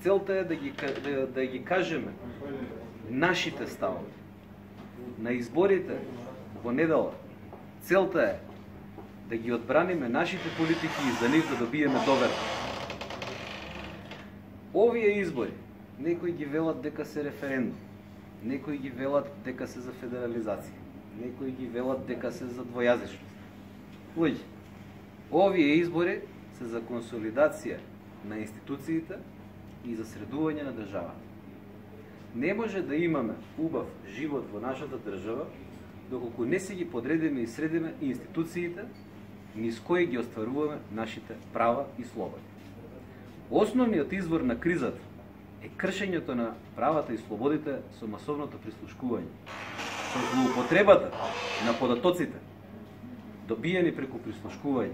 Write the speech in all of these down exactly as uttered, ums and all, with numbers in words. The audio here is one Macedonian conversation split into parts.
Целта е да ги, да, да ги кажеме нашите ставови. На изборите во недела целта е да ги одбраниме нашите политики и за нив да добиеме довера. Овие избори, некои ги велат дека се референдум, некои ги велат дека се за федерализација, некои ги велат дека се за двојазичност. Луѓе, овие избори се за консолидација на институциите и за средување на државата. Не може да имаме убав живот во нашата држава доколку не се ги подредиме и средиме институциите низ кои ги остваруваме нашите права и слободи. Основниот извор на кризата е кршењето на правата и слободите со масовното прислушкување, со злоупотребата на податоците, добиени преку прислушкување,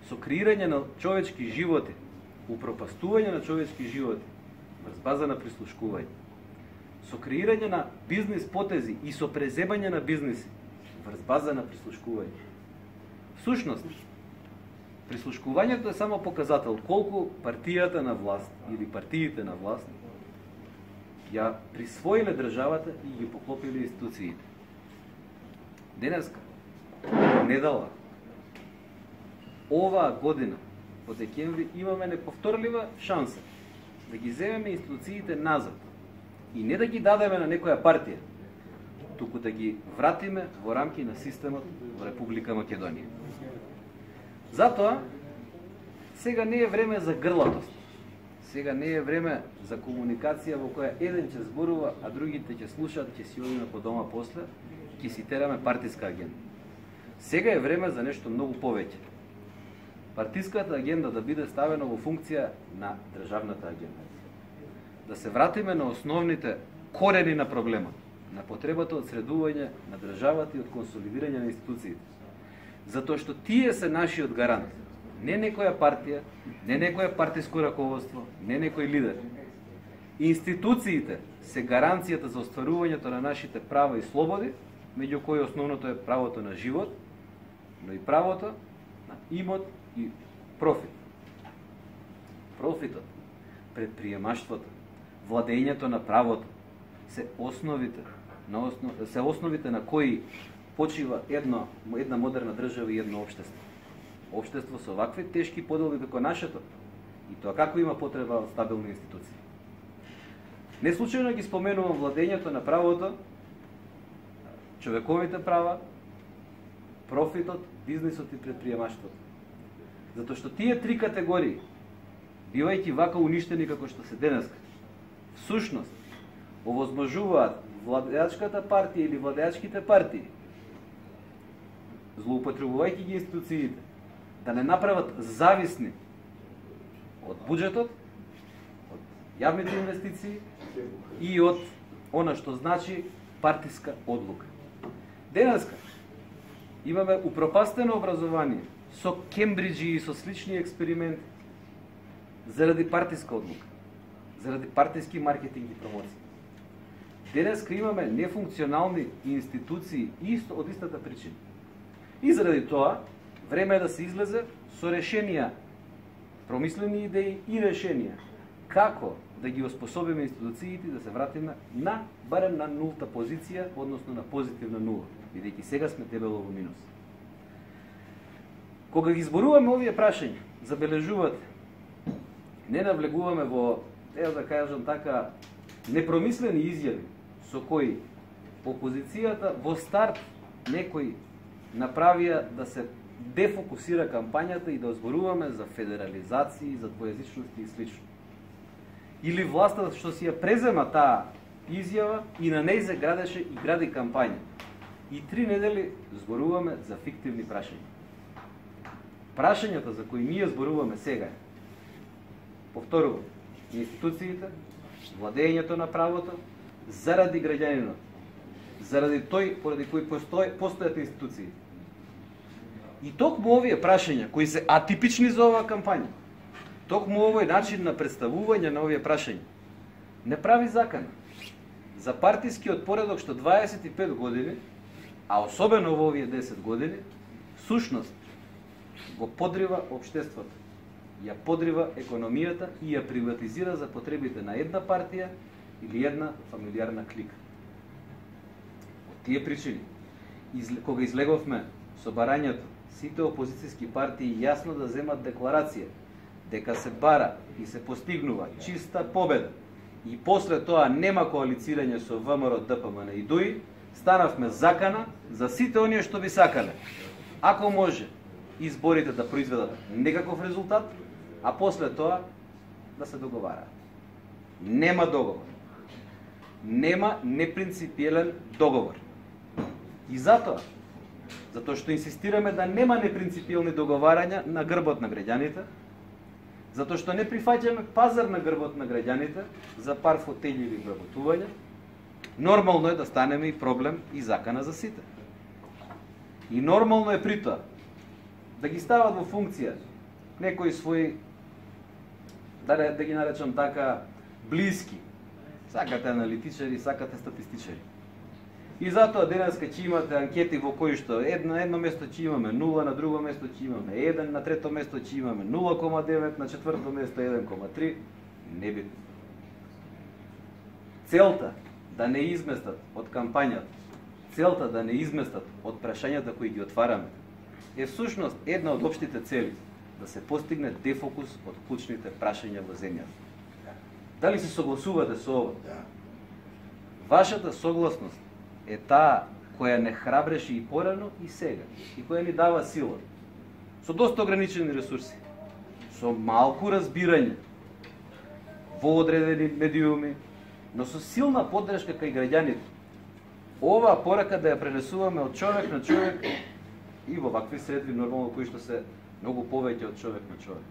со креирање на човечки животи, упропастување на човечки животи врз база на прислушкување, со креирање на бизнис потези и со преземање на бизниси врз база на прислушкување. Всушност, прислушкувањето е само показател колку партијата на власт или партиите на власт ја присвоиле државата и ги поклопиле институциите. Денеска, недела, оваа година, во декември, имаме неповторлива шанса да ги земеме институциите назад и не да ги дадеме на некоја партија, туку да ги вратиме во рамки на системот во Република Македонија. Затоа, сега не е време за грлатост. Сега не е време за комуникација во која еден ќе зборува, а другите ќе слушаат, ќе си одиме по дома после, ќе си тераме партиска агенда. Сега е време за нешто многу повеќе. Партиската агенда да биде ставена во функција на државната агенда. Да се вратиме на основните корени на проблемот, на потребата од средување на државата и од консолидирање на институциите. Затоа што тие се нашиот гарант. Не некоја партија, не некоја партиско раководство, не некој лидер. Институциите се гаранцијата за остварувањето на нашите права и слободи, меѓу кои основното е правото на живот, но и правото на имот и профит. Профитот, предприемаштвото, владењето на правото се основите на основ... се основите на кои почива едно, една модерна држава и едно општество. Општество со вакви тешки подели како нашето, и тоа како има потреба од стабилни институции. Не случајно ги споменувам владењето на правото, човековите права, профитот, бизнисот и предприемаштвото. Затоа што тие три категории, бивајќи вака уништени како што се денеска, всушност овозможуваат владеачката партија или владеачките партии, злоупотребувајќи ги институциите, да не направат зависни од буџетот, од јавните инвестиции и од она што значи партиска одлука. Денеска имаме упропастено образование со Кембриџи и со слични експерименти заради партиска одлука, заради партиски маркетинг и промоција. Денеска имаме нефункционални институции исто од истата причина. И заради тоа, време е да се излезе со решенија, промислени идеи и решенија, како да ги оспособиме институциите да се вратиме на, барем на нулта позиција, односно на позитивна нула, бидејќи сега сме дебело во минус. Кога ги зборуваме овие прашања, забележувате, не навлегуваме во, ево да кажам така, непромислени изјави со кои опозицијата во старт некои направија да се дефокусира кампањата и да зборуваме за федерализација, за двојазичност и слично. Или власта што си ја презема таа изјава и на неј се градеше и гради кампања. И три недели зборуваме за фиктивни прашања. Прашањата за кои ние зборуваме сега, повторувам, институциите, владењето на правото, заради граѓанинот, заради тој поради кој постои, постојат институции. И токму овие прашања, кои се атипични за оваа кампања, токму овој начин на представување на овие прашања, не прави закана за партискиот поредок што дваесет и пет години, а особено во овие десет години, сушност го подрива општеството. ја подрива економијата и ја приватизира за потребите на една партија или една фамилиарна клика. Од тие причини, кога излеговме со барањето, сите опозицијски партии јасно да земат декларација дека се бара и се постигнува чиста победа и после тоа нема коалицирање со ВМРО, ДПМН и ДУИ, станавме закана за сите оние што би сакале. Ако може, изборите да произведат некаков резултат, а после тоа да се договараат. Нема договор. Нема непринципиелен договор. И затоа, затоа што инсистираме да нема непринципиелни договарања на грбот на граѓаните, затоа што не прифаќаме пазар на грбот на граѓаните за пар фотељи вработувања, нормално е да станеме и проблем и закана за сите. И нормално е при тоа да ги стават во функција некои своји, да, да ги наречам така, блиски. Сакате аналитичари, сакате статистичари. И затоа денеска ќе имате анкети во кои што едно, едно место ќе имаме нула, на друго место ќе имаме еден, на трето место ќе имаме нула кома девет, на четврто место еден кома три. Небитно. Целта да не изместат од кампањата, целта да не изместат од прашањата кои ги отвараме, е всушност една од општите цели, да се постигне дефокус од клучните прашања во земјата. Дали се согласувате со ова? Вашата согласност е таа која не храбреше и порано и сега, и која ни дава сила, со доста ограничени ресурси, со малку разбирање во одредени медиуми, но со силна поддршка кај граѓаните. Оваа порака да ја пренесуваме од човек на човек и во вакви средби нормално кои што се многу повеќе од човек на човек.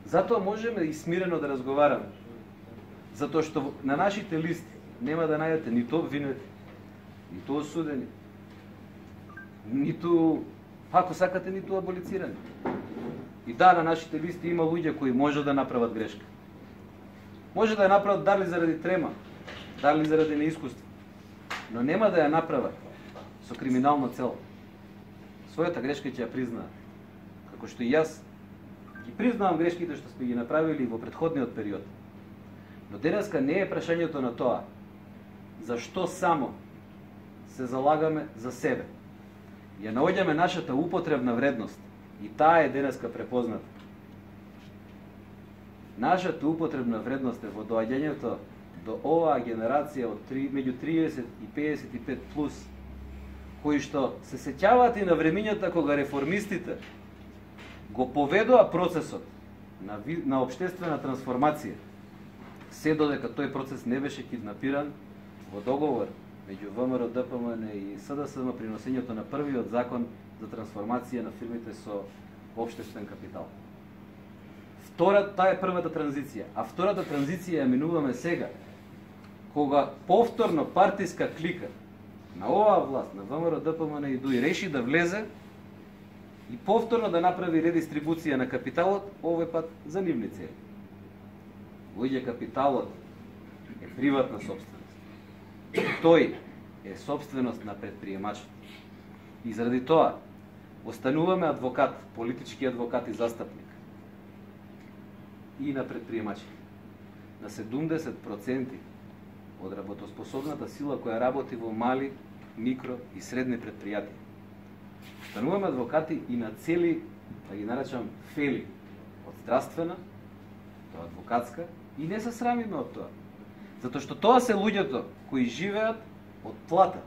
Затоа можеме и смирено да разговараме, затоа што на нашите листи нема да најдете ниту обвинети, ниту осудени, ниту, ако сакате, ниту аболицирани. И да, на нашите листи има луѓе кои може да направат грешка. Може да ја направат дали заради трема, дали заради неискуство, но нема да ја направат со криминална цел. Својата грешка ќе ја признаат. Како што и јас ги признавам грешките што сме ги направили во претходниот период. Но денеска не е прашањето на тоа зашто само се залагаме за себе. Ја наоѓаме нашата употребна вредност и таа е денеска препозната. Нашата употребна вредност е во доаѓањето до оваа генерација од меѓу триесет и педесет и пет плюс, кои што се сеќаваат и на времињата кога реформистите го поведоа процесот на, на општествена трансформација, се додека тој процес не беше киднапиран во договор меѓу ВМРО, ДПМН и СДСМ при носењето на првиот закон за трансформација на фирмите со општествен капитал. Втора, таа е првата транзиција, а втората транзиција ја минуваме сега, кога повторно партиска клика на оваа власт, на ВМРО, ДПМН и ДУИ, реши да влезе и повторно да направи редистрибуција на капиталот, овој пат за нивни цели. Луѓе, капиталот е приватна собственост. Тој е собственост на предприемачот. И заради тоа остануваме адвокат, политички адвокат и застапник и на предприемачите. На седумдесет проценти од работоспособната сила која работи во мали, микро и средни предпријатија. Стануваме адвокати и на цели, да ги наречам, фели од здравствена до адвокатска и не се срамиме од тоа. Затоа што тоа се луѓето кои живеат од плата,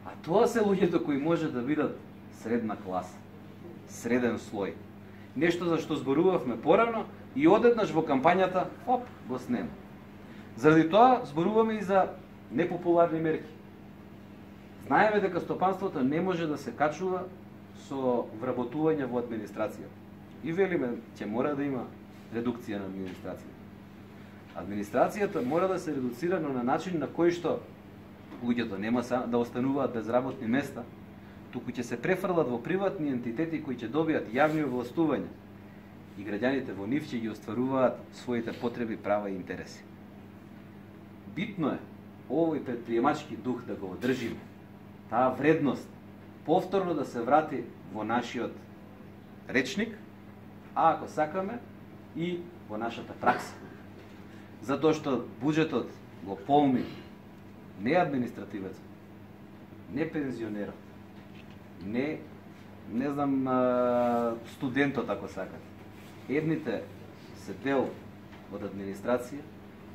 а тоа се луѓето кои може да бидат средна класа, среден слој. Нешто за што зборувавме порано и одеднаш во кампањата, оп, го снема. Заради тоа зборуваме и за непопуларни мерки. Знаеме дека стопанството не може да се качува со вработување во администрацијата. И велиме, ќе мора да има редукција на администрацијата. Администрацијата мора да се редуцира на начин на кој што луѓето нема да остануваат без работни места, туку ќе се префрлат во приватни ентитети кои ќе добијат јавни овластувања и граѓаните во нив ќе ги остваруваат своите потреби, права и интереси. Битно е овој предприемачки дух да го одржиме, таа вредност повторно да се врати во нашиот речник, а ако сакаме и во нашата пракса. Затоа што буџетот го полни не административецот, не пензионерот, не не знам студентот ако сакате. Едните се дел од администрација,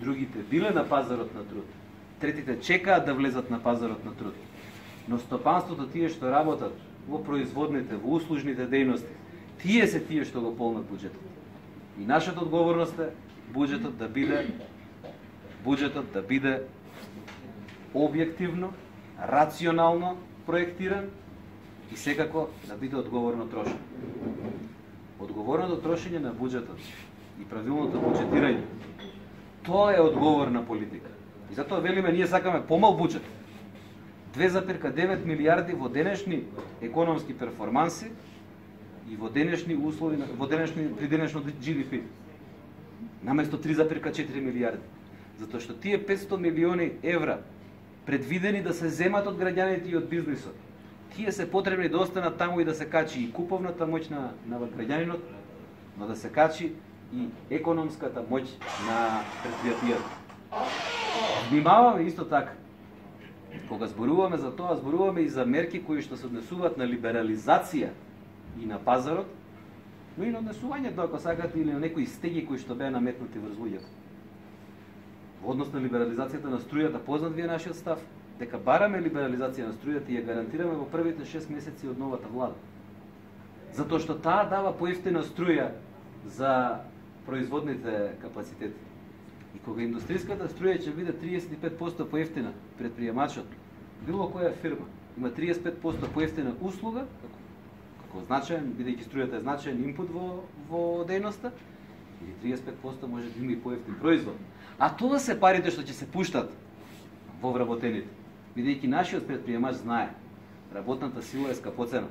другите биле на пазарот на труд, третите чекаат да влезат на пазарот на труд. Но стопанството, тие што работат во производните, во услужните дејности, тие се тие што го полнат буџетот. И нашата одговорност е буџетот да биде буџетот да биде објективно, рационално проектиран и секако да биде одговорно трошен. Одговорното трошење на буџетот и правилното буџетирање, тоа е одговорна политика. И затоа велиме, ние сакаме помал буџет. две запирка девет милијарди во денешни економски перформанси и во денешни услови, во денешни, при денешно Джи Ди Пи. Наместо три запирка четири милијарди. Затоа што тие петстотини милиони евра предвидени да се земат од граѓаните и од бизнисот, тие се потребни да останат таму и да се качи и куповната моќ на, на граѓанинот, но да се качи и економската моќ на предпријатијата. Внимаваме исто така. Кога зборуваме за тоа, зборуваме и за мерки кои што се однесуваат на либерализација и на пазарот, но и на однесувањето, ако сакате, или на некои стеги кои што беа наметнати врз луѓето. Во однос на либерализацијата на струјата, познат ви е нашиот став, дека бараме либерализација на струјата и ја гарантираме во првите шест месеци од новата влада. Затоа што таа дава поевтина струја за производните капацитети. И кога индустријската струја ќе биде триесет и пет проценти поевтина, предприемачот, било која фирма, има триесет и пет проценти поевтина услуга, како, како значаен, бидејќи струјата е значаен инпут во, во дејноста, или триесет и пет проценти може да има и поевтин производ. А тоа се парите што ќе се пуштат во вработените. Бидејќи нашиот предприемач знае, работната сила е скапоцена.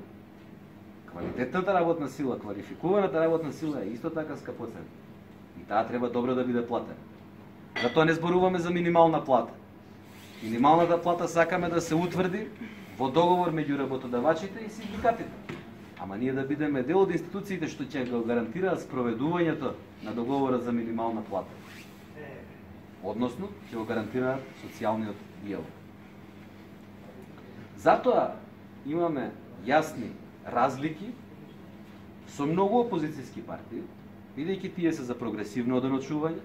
Квалитетната работна сила, квалификуваната работна сила е исто така скапоцена. И таа треба добро да биде платена. Затоа не зборуваме за минимална плата. Минималната плата сакаме да се утврди во договор меѓу работодавачите и синдикатите. Ама ние да бидеме дел од институциите што ќе го гарантираат спроведувањето на договорот за минимална плата. Односно, ќе го гарантираат социјалниот диалог. Затоа имаме јасни разлики со многу опозицијски партии, бидејќи тие се за прогресивно оденочување,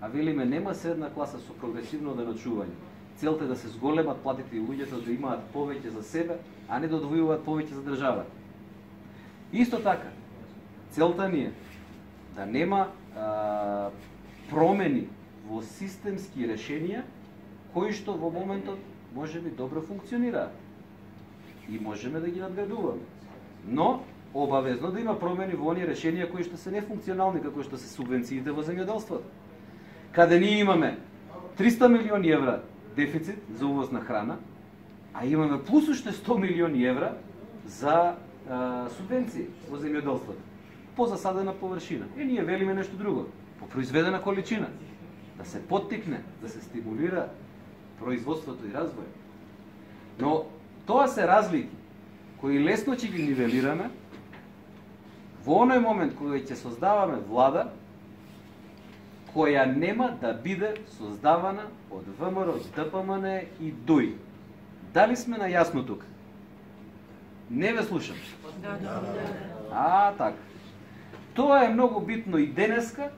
а велиме нема средна класа со прогресивно оденочување. Целта е да се зголемат платите и луѓето да имаат повеќе за себе, а не да одвојуваат повеќе за државата. Исто така, целта ни е да нема а, промени во системски решенија кои што во моментот може би добро функционираат и можеме да ги надградуваме. Но обавезно да има промени во оние решенија кои што се нефункционални, како што се субвенциите во земјоделството. Каде ние имаме триста милиони евра дефицит за увоз на храна, а имаме плюс уште сто милиони евра за а, субвенции во земјоделството по засадена површина. И ние велиме нешто друго, по произведена количина, да се поттикне, да се стимулира производството и развој. Но тоа се разлики кои лесно ќе ги нивелираме во оној момент кога ќе создаваме влада која нема да биде создавана од Вэ Ем Р, Д П М Н и Д У И. Дали сме најасно тука? Не ве слушам. А, така. Тоа е многу битно и денеска,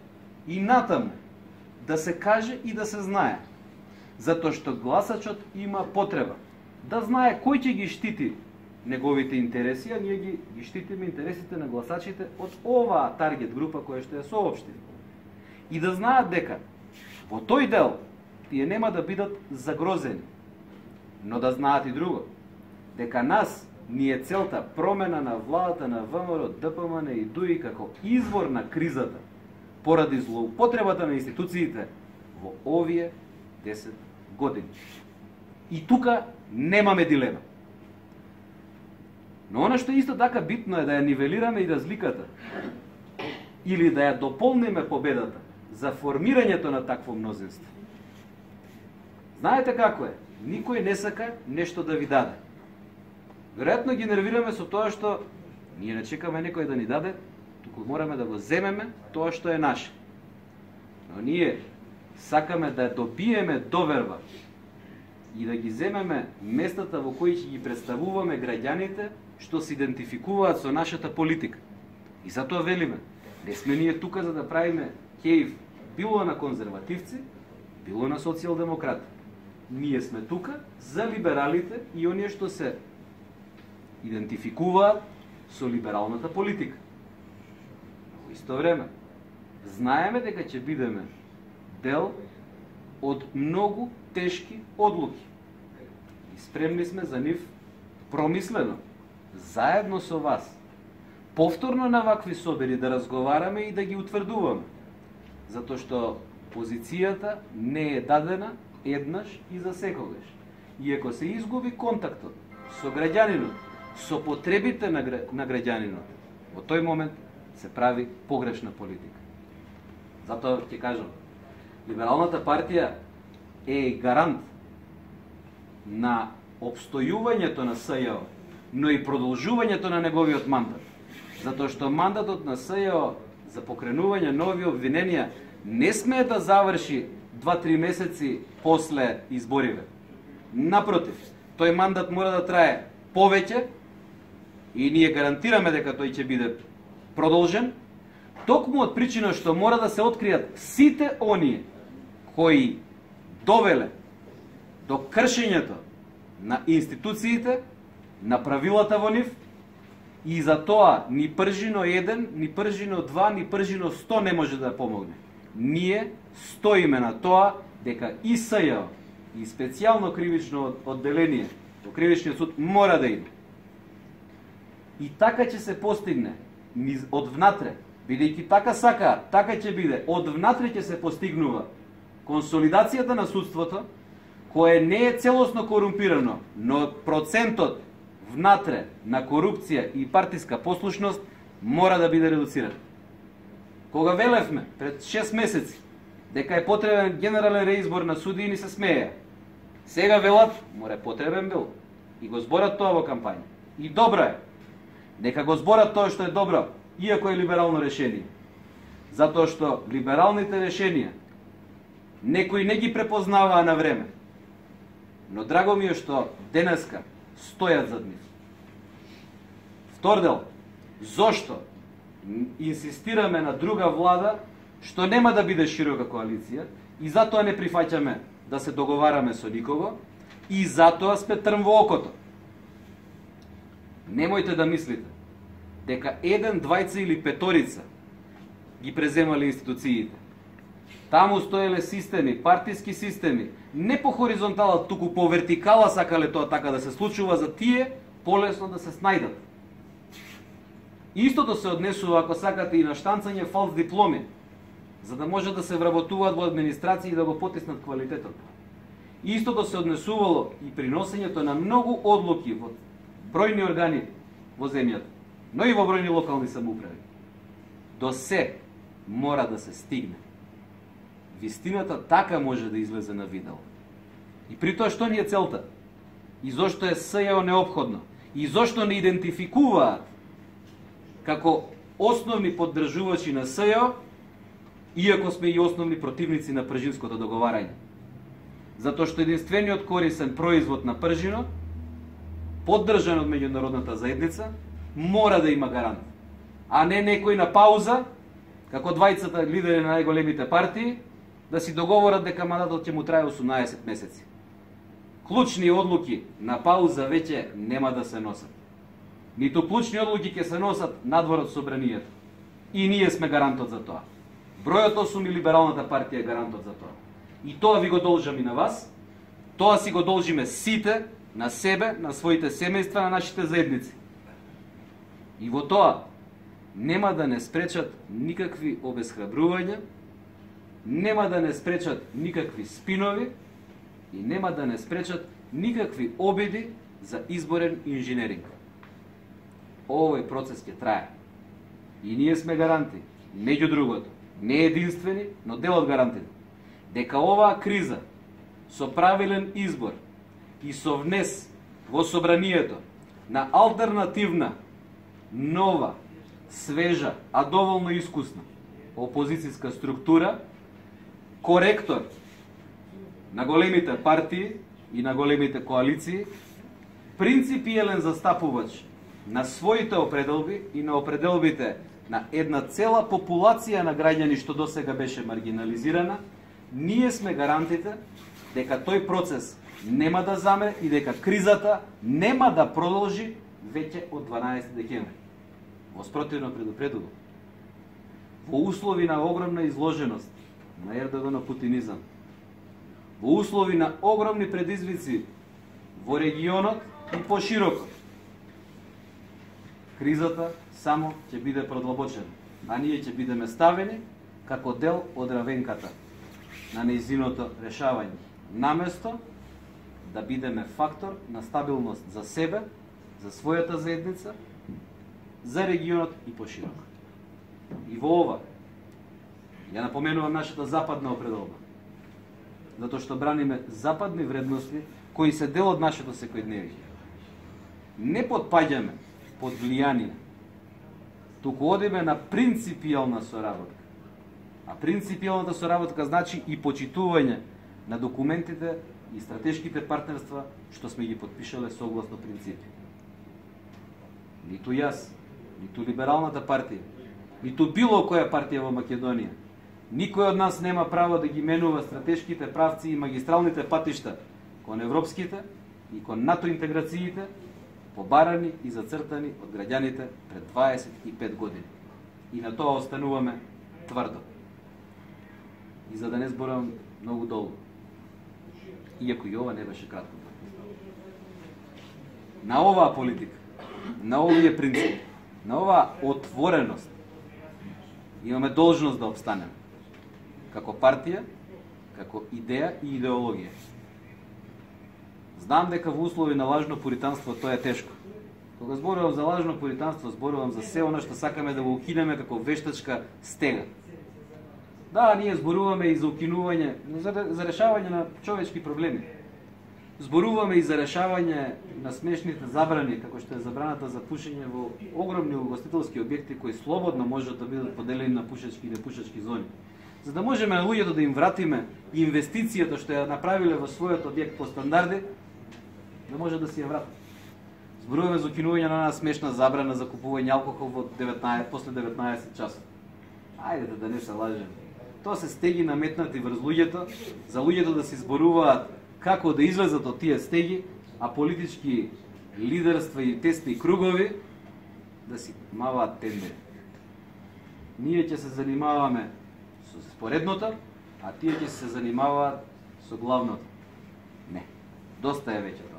и натаму, да се каже и да се знае. Затоа што гласачот има потреба да знае кој ќе ги штити неговите интереси, а ние ги, ги штитиме интересите на гласачите од оваа таргет група која што ја соопшти. И да знаат дека во тој дел тие нема да бидат загрозени. Но да знаат и друго, дека нас ни е целта промена на владата на Вэ Ем Р, Д П М Н и Д У И како извор на кризата поради злоупотребата на институциите во овие десет години. И тука немаме дилема. Но она што исто така битно е да ја нивелираме и разликата или да ја дополниме победата за формирањето на такво мнозинство. Знаете како е? Никој не сака нешто да ви даде. Веројатно ги нервираме со тоа што ние не чекаме некој да ни даде, туку туку мораме да го земеме тоа што е наше. Но ние сакаме да добиеме доверба и да ги земеме местата во кои ќе ги представуваме граѓаните што се идентификуваат со нашата политика. И затоа велиме, не сме ние тука за да правиме хејв било на конзервативци, било на социјалдемократи. Ние сме тука за либералите и оние што се идентификуваат со либералната политика. Во исто време, знаеме дека ќе бидеме дел од многу тешки одлуки. И спремни сме за нив промислено, заедно со вас, повторно на вакви собери да разговараме и да ги утврдуваме. Затоа што позицијата не е дадена еднаш и за секогаш. И ако се изгуби контактот со граѓанинот, со потребите на, гра... на граѓанинот, во тој момент се прави погрешна политика. Затоа ќе кажам, Либералната партија е гарант на обстојувањето на СЈО, но и продолжувањето на неговиот мандат. Затоа што мандатот на СЈО за покренување нови обвиненија не смее да заврши два-три месеци после избориве. Напротив, тој мандат мора да трае повеќе и ние гарантираме дека тој ќе биде продолжен, токму од причина што мора да се откријат сите оние кои довеле до кршењето на институциите, на правилата во нив, и за тоа ни пржино еден, ни пржино два, ни пржино сто не може да помогне. Ние стоиме на тоа дека и СЈО и специјално кривично одделение во кривичниот суд мора да иде. И така ќе се постигне од внатре, бидејќи така сака, така ќе биде, од внатре ќе се постигнува консолидацијата на судството, кое не е целосно корумпирано, но процентот внатре на корупција и партиска послушност мора да биде редуциран. Кога велевме пред шест месеци дека е потребен генерален реизбор на судии, ни се смеја. Сега велат, мора потребен бил. И го зборат тоа во кампања. И добро е. Нека го зборат тоа што е добро, иако е либерално решение. Затоа што либералните решенија некои не ги препознаваа на време. Но драго ми е што денеска стојат зад нив. Втор дел, зошто инсистираме на друга влада што нема да биде широка коалиција и затоа не прифаќаме да се договараме со никого и затоа сме трн во окото. Немојте да мислите дека еден, двајца или петорица ги преземале институциите. Таму стоеле системи, партиски системи, не по хоризонтала, туку по вертикала сакале тоа така да се случува за тие, полесно да се снајдат. Истото се однесува, ако сакате, и на штанцање фалс дипломи, за да може да се вработуваат во администрација и да го потиснат квалитетот. Истото се однесувало и при носењето на многу одлуки во бројни органи во земјата, но и во бројни локални самоуправи. До се мора да се стигне. Вистината така може да излезе на видео. И при тоа што ни е целта? И зошто е СЈО неопходно? И зошто не идентификуваат како основни поддржувачи на СЈО, иако сме и основни противници на пржинското договарање? Затоа што единствениот корисен производ на пржино, поддржан од меѓународната заедница, мора да има гарант. А не некој на пауза, како двајцата лидери на најголемите партии, да си договорат дека мандатот ќе му трае осумнаесет месеци. Клучни одлуки на пауза веќе нема да се носат. Ниту клучни одлуки ќе се носат надвор од собранието. И ние сме гарантот за тоа. Бројот осум и Либералната партија е гарантот за тоа. И тоа ви го должам и на вас, тоа си го должиме сите, на себе, на своите семејства, на нашите заедници. И во тоа нема да не спречат никакви обесхрабрувања, нема да не спречат никакви спинови и нема да не спречат никакви обиди за изборен инженеринг. Овој процес ќе трае. И ние сме гаранти, меѓу другото, не единствени, но дел од гарантите, дека оваа криза со правилен избор и со внес во собранието на алтернативна, нова, свежа, а доволно искусна опозицијска структура, коректор на големите партии и на големите коалиции, принципиелен застапувач на своите определби и на определбите на една цела популација на граѓани што досега беше маргинализирана, ние сме гарантите дека тој процес нема да заме и дека кризата нема да продолжи веќе од дванаесети декември. Во спротивно предупредувам. Во услови на огромна изложеност на Ердоган путинизам, во услови на огромни предизвици во регионот и пошироко, кризата само ќе биде продлабочена, а ние ќе бидеме ставени како дел од равенката на нејзиното решавање, наместо да бидеме фактор на стабилност за себе, за својата заедница, за регионот и пошироко. И во ова, ја напоменувам нашата западна определба, затоа што браниме западни вредности кои се дел од нашето секојдневие. Не подпаѓаме под влијание, туку одиме на принципијална соработка. А принципијалната соработка значи и почитување на документите и стратешките партнерства што сме ги подпишале согласно принципи. Ниту јас, ниту либералната партија, ниту било која партија во Македонија, никој од нас нема право да ги менува стратешките правци и магистралните патишта кон европските и кон НАТО интеграциите, побарани и зацртани од граѓаните пред дваесет и пет години. И на тоа остануваме тврдо. И за да не зборам многу долго, иако и ова не беше кратко. На оваа политика, на овие принципи, на оваа отвореност, имаме должност да обстанеме. Како партија, како идеја и идеологија. Знам дека во услови на лажно пуританство тоа е тешко. Кога зборувам за лажно пуританство, зборувам за се она што сакаме да го укинеме како вештачка стега. Да, ние зборуваме и за укинување, за, за решавање на човечки проблеми. Зборуваме и за решавање на смешните забрани, како што е забраната за пушење во огромни угостителски објекти кои слободно можат да бидат поделени на пушечки и непушечки зони. За да можеме на луѓето да им вратиме инвестицијата што ја направиле во својот објект по стандарди, да може да си ја вратат. Зборуваме за укинување на една смешна забрана за купување алкохол во деветнаесет, после деветнаесет часот. Ајдете да не се лажеме. Тоа се стеги наметнати врз луѓето, за луѓето да се зборуваат како да излезат од тие стеги, а политички лидерства и тесни кругови да си маваат тендери. Ние ќе се занимаваме со споредното, а тие ќе се занимаваат со главното. Не, доста е веќе тоа.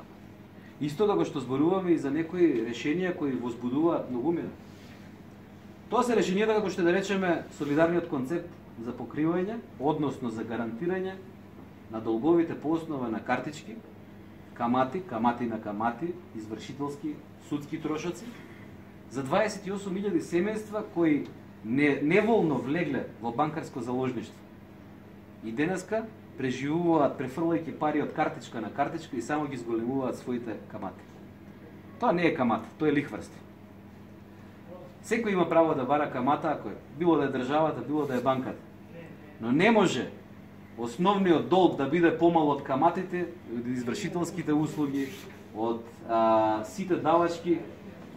Исто како што зборуваме и за некои решенија кои возбудуваат многумина. Тоа се решенијата како што да речеме солидарниот концепт за покривање, односно за гарантирање на долговите по основа на картички, камати, камати на камати, извршителски, судски трошоци, за дваесет и осум илјади семејства кои не, неволно влегле во банкарско заложништво. И денеска преживуваат префрлајќи пари од картичка на картичка и само ги зголемуваат своите камати. Тоа не е камата, тоа е лихварство. Секој има право да бара камата, ако е, било да е државата, било да е банката. Но не може основниот долг да биде помал од каматите, од извршителските услуги, од а, сите давачки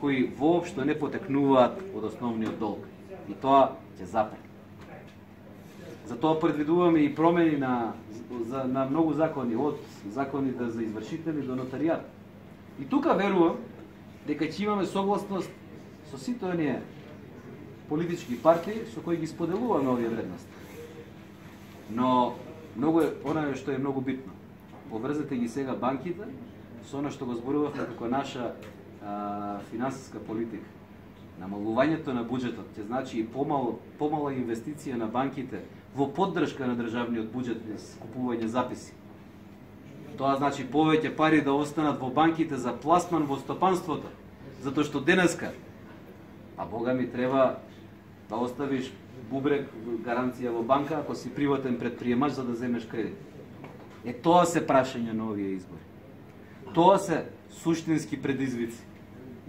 кои воопшто не потекнуваат од основниот долг. И тоа ќе запре. Затоа предвидуваме и промени на, за, на многу закони, од законите за извршители до нотаријат. И тука верувам дека ќе имаме согласност со сите оние политички партии со кои ги споделуваме овие вредности. Но многу е она што е многу битно. Поврзете ги сега банките со она што го зборувавме како наша а, финансиска политика. Намалувањето на буџетот ќе значи и помал, помала инвестиција на банките во поддршка на државниот буџет без купување записи. Тоа значи повеќе пари да останат во банките за пласман во стопанството, затоа што денеска, а Бога ми треба да оставиш бубрек гаранција во банка ако си приватен предприемач за да земеш кредит. Е тоа се прашање на овие избори. Тоа се суштински предизвици.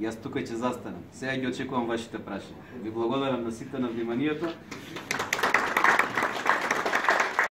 Јас тука ќе застанам. Сега ги очекувам вашите прашања. Ви благодарам на сите на вниманието.